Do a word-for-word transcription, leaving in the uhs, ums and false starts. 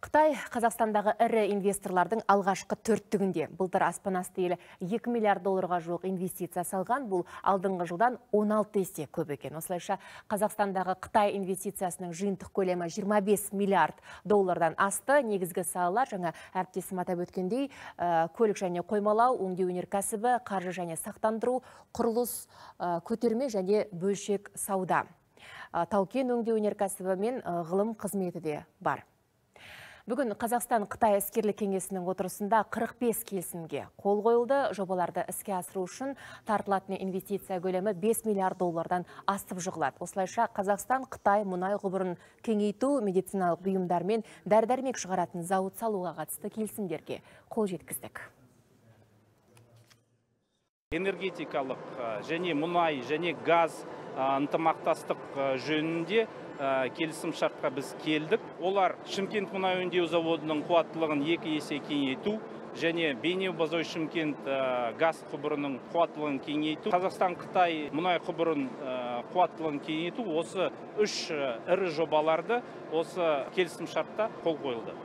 Қытай Қазақстандағы ірі инвесторлардың алғашқы төрттігінде. Былтыр аспан асты елі екі миллиард долларға жуық инвестиция салған. Бұл алдыңғы жылдан он алты есе көп екен. Осылайша Қазақстандағы Қытай инвестициясының жиынтық көлемі жиырма бес миллиард доллардан асты. Негізгі салалар жаңа әріптесім атап өткендей, көлік және қоймалау, өңдеу өнеркәсібі, қаржы және сақтандыру, құрылыс, көтерме және бөлшек сауда. Тау-кен өңдеу өнеркәсібі мен ғылым қызметі де бар. Бүгін Қазақстан-Қытай іскерлік кеңесінің отырысында қырық бес келісімге қол қойылды. Жобаларды іске асыру үшін тартылатын инвестиция көлемі бес миллиард доллардан асып жығылады. Осылайша Қазақстан-Қытай мұнай құбырын кеңейту, медициналық бұйымдар мен дәрі-дәрмек шығаратын зауыт салуға қатысты келісімдерге қол жеткіздік. Энергетикалық және мұнай және газ ынтымақтастық жөнінде келісім шартқа біз келдік. Олар Шымкент мұнай өңдеу заводының қуаттылығын екі есе кеңейту және Бейнеу-Бозой Шымкент газ құбырының қуаттылығын кеңейту, Қазақстан-Қытай мұнай құбырын қуаттылығын кеңейту, осы үш ірі жобаларды осы келісім шартта қол қойылды.